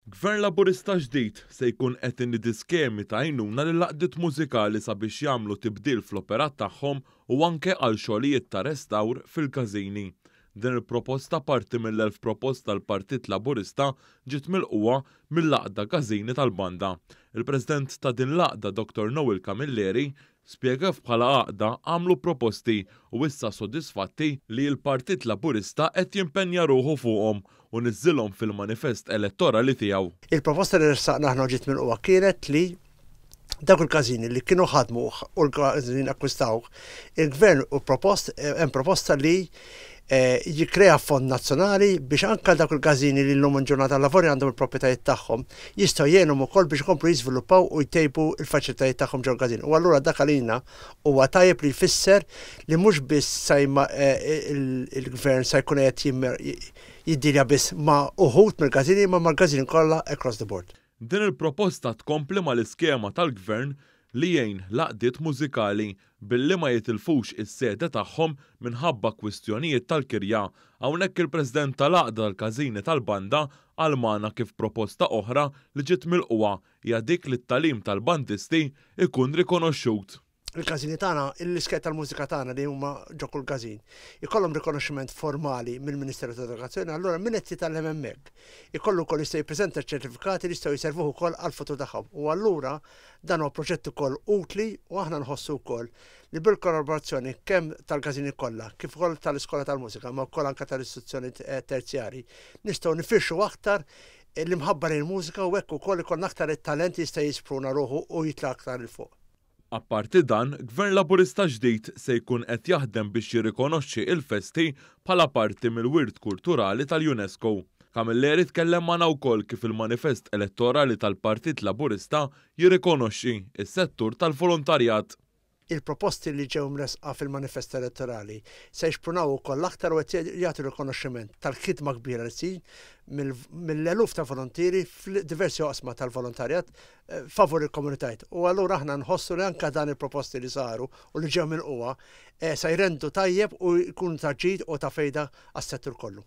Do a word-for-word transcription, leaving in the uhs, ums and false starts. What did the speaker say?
Gvern Laburista ġdid se jkun qed inidi skemi ta' għajnuna lill-għaqdiet mużikali sabiex jagħmlu tibdil fl-operat tagħhom u anke għal xogħlijiet ta' restawr fil-każini. Din il-proposta, parti mill-elf proposta tal-Partit Laburista, ġiet milqugħa mill-Għaqda Każini tal-Banda. Il-President ta' din l-għaqda, Dottor Noel Camilleri, spjega bħala għaqda għamlu proposti u issa sodisfatti li l-Partit Laburista qed jimpenja ruħu fuqhom u niżżilhom fil-manifest elettorali tiegħu. Il-proposta li ressaqna aħna ġiet milqugħa kienet li dawk il-każini li kienu ħadmu u l-każini akkwistaw, il-gvern u propost, hemm proposta li eh, jikrea fond nazzjonali biex anka dawk il-każini li llum ġurnata lavori għandhom il-proprjetajiet tagħhom jistgħu jgħinhom ukoll biex ikomplu jiżviluppaw u jtejbu il-faċilitajiet tagħhom ġol każin. U allura dak għalina huwa tajjeb li jfisser li mhux biss sajma eh, il-gvern sa jkun qed jiddilja biss ma' uħud mill-każini, ma' mal-każini kollha across the board. Din il-proposta tkompli mal-iskema tal-gvern li jgħin l-għaqdiet mużikali billi ma jitilfux is-sede tagħhom minħabba kwistjonijiet tal-kirja. Hawnhekk il-President tal-Għaqda tal-Każini tal-Banda qal magħna kif proposta oħra li ġiet milqugħa hija dik li t-tagħlim tal-bandisti ikun rikonoxxut. Il-każini tagħna, l-iskejjel tal-mużika tagħna li huma ġo kull każin, ikollhom rikonoxximent formali mill-Ministeru tal-Edukazzjoni, allura min qed jitgħallem hemmhekk ikollu wkoll jista' jippreżenta ċertifikati li jistgħu jservuh ukoll għall-futur tagħhom. U allura dan huwa proġett ukoll utli u aħna nħossu wkoll li bil-kollaborazzjoni kemm tal-każini kollha, kif ukoll tal-iskola tal-mużika, ma wkoll anke tal-istituzzjoni terzjari, nistgħu nifirxu aktar l-imħabba lejn mużika u hekk ukoll ikollna aktar it-talent jista' jispruna ruħu u jitla' aktar 'il fuq. Apparti dan, Gvern Laburista ġdid se jkun qed jaħdem biex jirrikonoxxi il-festi bħala parti mill-wirt kulturali tal-UNESCO. Camilleri tkellem magħna wkoll kif il-manifest elettorali tal-Partit Laburista jirrikonoxxi is-settur tal-volontarjat. Il-proposti li ġew mresqa fil-manifest elettorali se jixprunaw ukoll aktar u qed jagħtu rikonoxximent tal-ħidma kbira li ssir mill-eluf ta' volontieri f'diversi oqsma tal-volontarjat eh, favur il-komunitajiet. U allura aħna nħossu li anka dan il-proposti li saru u li ġew milqugħa eh, se jrendu tajjeb u jkun ta' ġid u ta' fejda għas-settur kollu.